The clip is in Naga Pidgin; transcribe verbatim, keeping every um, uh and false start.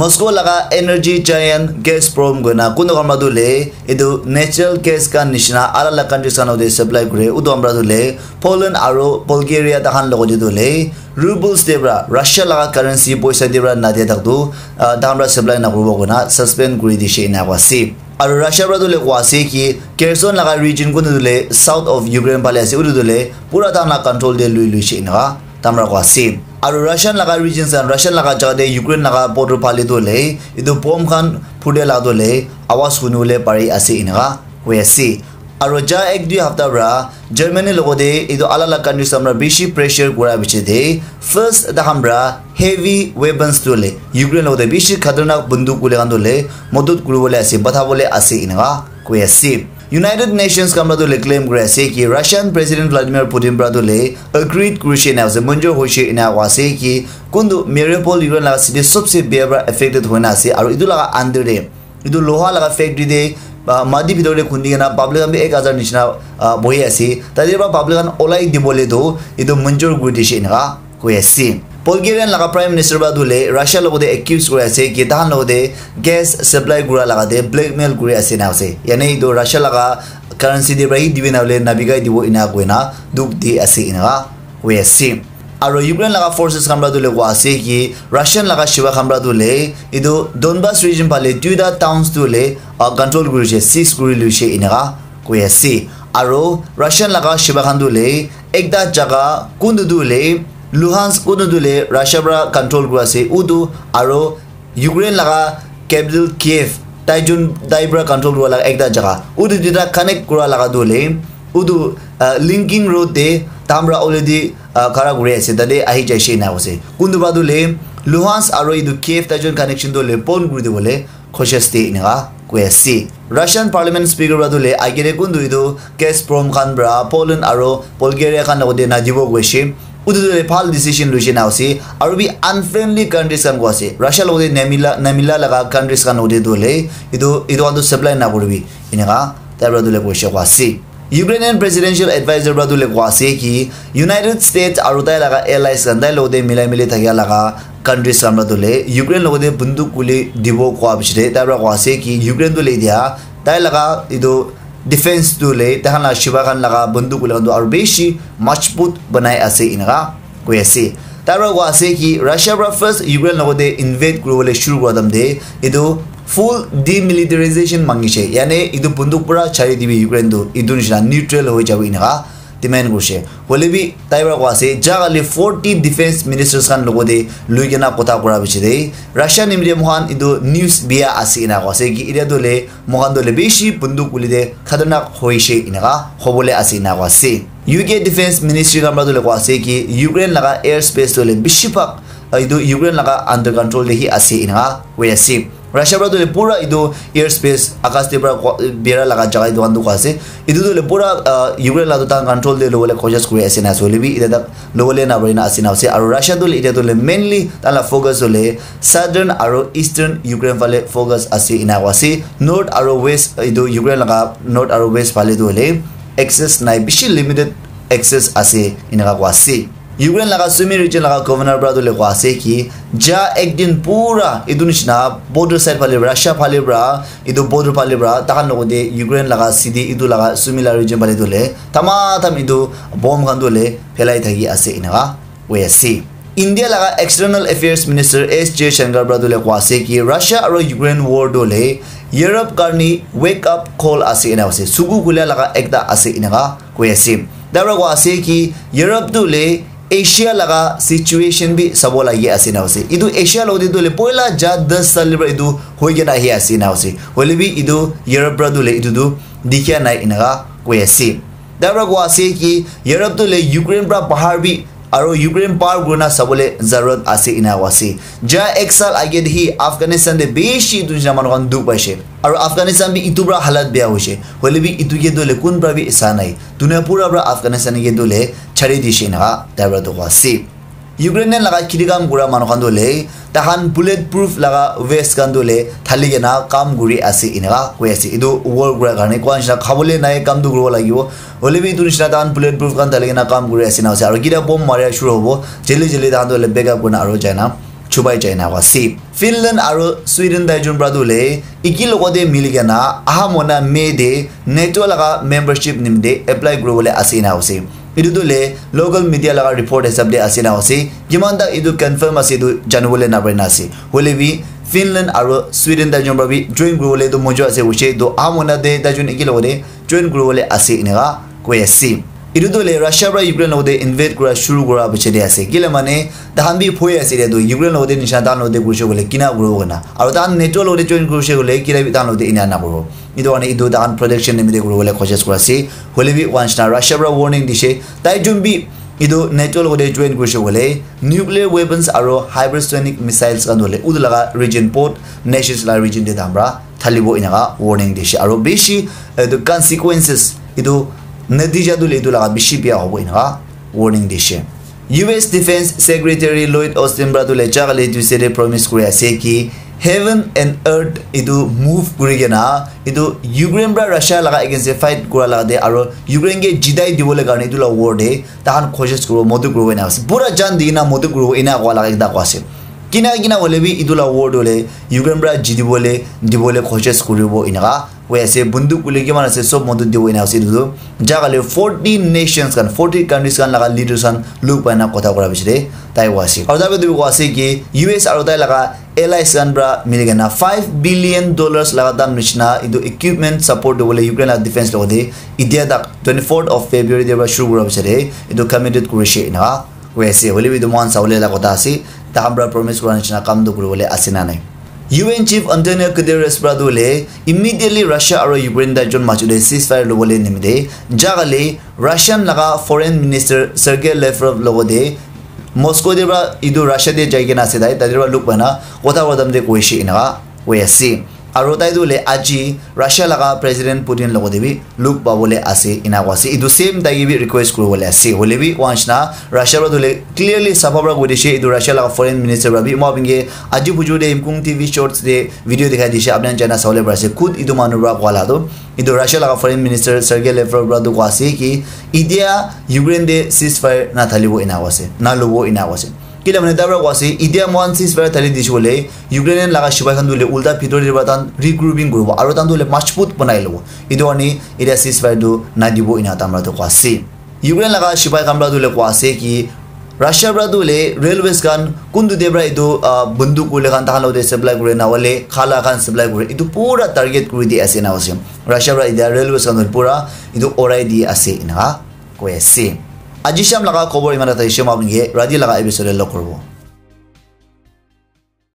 Moscow laga energy giant Gazprom koina kuntu khan para tu le etu natural gas khan nishina alak alak countries khan te supply kure, utu khan para tu le Poland aro Bulgaria tahan logote tu le rubles te para, Russia laga currency poisa te para nadia tak tu, ah, tahan para supply nakuribo koina suspend kuri dishe ena koa ase. Aro Russia para tu le koa ase ki Kherson laga region kuntu tu le south of Ukraine phale ase, utu tu le pura tahan la control te lui luishe ena tahan para koa ase. Aro Russian laga regions khan, Russian laga jaga te Ukraine laga border phale tu le etu bomb khan phutia la tu le awaz huni bole pari ase ena koi ase. Aro ja ek dui hapta para Germany logote etu alak alak countries khan para bishi pressure kura piche te first tahan para heavy weapons tu le Ukraine logote bishi khatarnak bunduk kule khan tu le modot kuri bole ase, batha bole ase ena koi ase. United Nations khan para tu le claim kuri ase ki Russian President Vladimir Putin para tu le agreed kurishe ena ase, manjur hoishe ena koa ase ki kuntu Mariupol Ukraine laga city sobse bia para affected hoina ase, aro etu laga under te etu loha laga factory te, ah, mati bhitor te khundi kena public khan bi ek hajar nishina, ah, bohi ase. Tate para public khan olai dibole tu etu manjur kuri dishe ena koi ase. Bulgarian laga Prime Minister para tu le Russia logote accuse kuri ase ki tahan logote gas supply kura laga te blackmail kuri ase na ase. Yane etu Russia laga currency te para hi dibi na hole nabikai dibo ena koina dukh di ase ena koi ase. Aro Ukraine laga forces khan para tu le koa ase ki Russian laga shiva khan para tu le etu Donbas region phale duita towns tu le, ah, control kurishe, seize kuri luishe ena koi ase. Aro Russian laga shiva khan tu le ekta jaga kuntu tu le Luhansk kuntu tu le Russia para control kuri ase utu, aro Ukraine laga capital Kiev, tai jun tai para control kura laga ekta jaga. Utu duita connect kura laga tu le, utu, ah, linking road te tahan para already, ah, khara kuri ase, tate ahi jai she na ase. Kuntu para tu le Luhansk aro etu Kiev tai jun connection tu le bon kuri dibole cautious te ena koi ase. Russian Parliament Speaker para tu le agere kuntu etu Gazprom khan para Poland aro Bulgaria khan logote nadibo koishe. Utu tu le bhal decision luishe na ase. Aro bi unfriendly countries khan koa ase. Russia logote namila, namila laga countries khan logote tu le etu, etu khan tu supply nakuribi. Ena tai para tu le koishe koa ase. Ukrainian Presidential Advisor para tu le koa ase ki United States aro tai laga allies khan tai logote milai mili thakia laga countries khan para tu le Ukraine logote bunduk kuli dibo koa piche te tai para koa ase ki Ukraine tu le etia tai laga etu defense tu le tahan la shiva khan laga bunduk kuli khan tu aro bishi majbut banai ase ena koi ase. Tai para koa ase ki Russia para first Ukraine logote invade kuri bole shuru kura time te etu full demilitarization mangishe, yane etu bunduk pura chari dibi Ukraine tu, etu nishina neutral hoi jabo ena demand kurishe. Hoile bi tai para koa ase, ja kali forty defense ministers khan logote lui kena kotha kura piche te Russia nimite moikhan etu news bia ase ena koa ase ki etia tu le moikhan tu le bishi bunduk kuli te khatarnak hoishe ena hobole ase ena koa ase. U K Defense Ministry khan para tu le koa ase ki Ukraine laga air space tu le bishi bhag, ah, etu Ukraine laga under control te hi ase ena koi ase. Russia para tu le pura etu air space, akas te para ko-, bera laga jaga etu khan tu koa ase. Etu tu le pura, ah, Ukraine laga tu tahan control te lobole cautious kuri ase na ase. Hoile bi etia tak lobole na pari na ase na ase. Aro Russia tu le etia tu le mainly tahan la focus tu le southern aro eastern Ukraine phale focus ase ena koa ase. North aro west, etu Ukraine laga north aro west phale tu le access nai, bishi limited access ase ena koa ase. Ukraine laga Sumy region laga governor para tu le koa ase ki ja ek din pura etu nishina border side phale Russia phale para etu border phale para tahan logote Ukraine laga city etu laga Sumy laga region phale tu le tamatam etu bomb khan tu le phelai thaki ase ena koi ase. India laga External Affairs Minister S Jaishankar para tu le koa ase ki Russia aro Ukraine war tu le Europe karni wake up call ase ena ase. Suku khula laga ekta ase ena koi ase. Tai para koa ase ki Europe tu le Asia laga situation bi sabo lagi ase na ase. Etu Asia logote tu le poila ja das sal para etu hoi kena ahi ase na ase. Hoile bi etu Europe para tu le etu tu dikhia nai ena koi ase. Tai para koa ase ki Europe tu le Ukraine para bahar bi aro Ukraine par kurina sabole zarurat ase ena koa ase. Ja ek sal age de hi Afghanistan de bishi etu nishina manu khan dukh paishe. Aro Afghanistan bi etu para halat beya hoishe. Hoile bi etu ke tu le kun para bi sa nai. Dunia pura para Afghanistan ke tu le chari dishe ena tai para tu koa ase. Ukrainian laga khiti kam kura manu khan tu le tahan bullet proof laga vest khan tu le thali kena kam kuri ase ena koi ase. Etu war kura karne koa nishina khabole nai, kam tu kuribo lagibo. Hoile bi etu nishina tahan bullet proof khan thali kena kam kuri ase na ase. Aro kita bomb maria shuru hobo, jale jale tahan tu le backup kurina aro jai na chubai jai na ase. Finland aro Sweden tai jun pra tu le iki logote mili kena aha mona May de NATO laga membership nimite apply kuribole ase na ase. Etu tu le local media laga report hisab de ase na ase. Kiman tak etu confirm ase etu janibole napare na ase. Hoile bi Finland aro Sweden tai jun pra bi join kuribole tu mojo ase hoise tu aha mona de tai jun iki logote join kuribole ase eneka koi ase. Etu tu le Russia pra Ukraine logote invade kura shuru kura piche de ase. Kile mane tahan bi phoi ase de tu Ukraine logote nisha tahan logote kurishe kole kina kuribo kena. Aro tahan NATO logote join kurishe kole kina bi tahan logote ina na kuribo. Etu karne etu tahan protection nimite kuribole koshish kura ase. Hoile bi once na Russia pra warning dishe. Tai jun bi etu NATO logote join kurishe kole nuclear weapons aro hypersonic missiles khan hole utu laga region port nations la region de tahan pra thalibo eneka warning dishe. Aro bishi etu consequences etu natija tu le etu laga bishi bia hobo eneka warning dishe. U S Defense Secretary Lloyd Austin pra tu le jagale Tuesday de promise kuri ase ki heaven and earth etu move kuri kena etu Ukraine pra Russia laga against de fight kura laga de aro Ukraine ke jitai dibole karne etu la war de tahan koshish kuribo, modot kuribo ena ase. Pura jan di kena modot kuribo ena koa laga ekta koa ase. Kina kina hole bi etu la war tu le Ukraine pra jitibole dibole koshish kuribo eneka koi ase. Bunduk kule kiman ase sob modot dibo ena ase etu tu. Jagale forty nations khan, forty countries khan laga leaders khan luk pai na kotha kura piche de tai koa ase. Aro tai bi tu koa ase ki U S aro tai laga allies khan pra mili kena five billion dollars laga dam nishina etu equipment support dibole Ukraine la defense logote itia tak twenty-fourth of February de pra shuru kura piche de etu committed kurishe eneka koi ase. Hoile bi etu mohan sabole la kotha ase. Tahan pra promise kura nishina kam tu kuribole ase na nai. U N Chief Antonio Guterres pra tu le immediately Russia aro Ukraine tai jun majo de ceasefire lobole nimite jagale Russian laga Foreign Minister Sergei Lavrov logote Moscow de pra etu Russia de jai kena ase tai, tai de pra luk pai na kotha kotha de koishe eneka koi ase. Aro tai tu le aji Russia laga President Putin logote bi luk pabole ase ena koi ase. Etu same tai ke bi request kuribole ase. Hoile bi once na Russia pra tu le clearly safa pra koi dishe etu Russia laga Foreign Minister pra bi. Moi apni ke aji bujur de Imkung T V Shorts de video dikhai dishe, apni khan jana sabole pari ase. Khud etu manu pra koa la tu etu Russia laga Foreign Minister Sergei Lavrov pra tu koa ase ki itia Ukraine de ceasefire na thalibo ena koa ase, na lobo ena koa ase. Kile mane tai pra koa ase itia mohan ceasefire thali dishe kole Ukrainian laga sipai khan tu le ulta bhitor de pra tahan regrouping kuribo aro tahan tu le majbut banai lobo. Etu karne itia ceasefire tu na dibo ena tahan pra tu koa ase. Ukraine laga sipai khan pra tu le koa ase ki Russia pra tu le railways khan kuntu de pra etu ah, bunduk kule khan tahan logote supply kure na hole khala khan supply kure etu pura target kuri di ase na ase. Russia pra itia railways khan tu pura etu orai di ase eneka koi ase. Aji sham laga khobor iman ta thaishe, moi apni ke rati laga episode de log kuribo.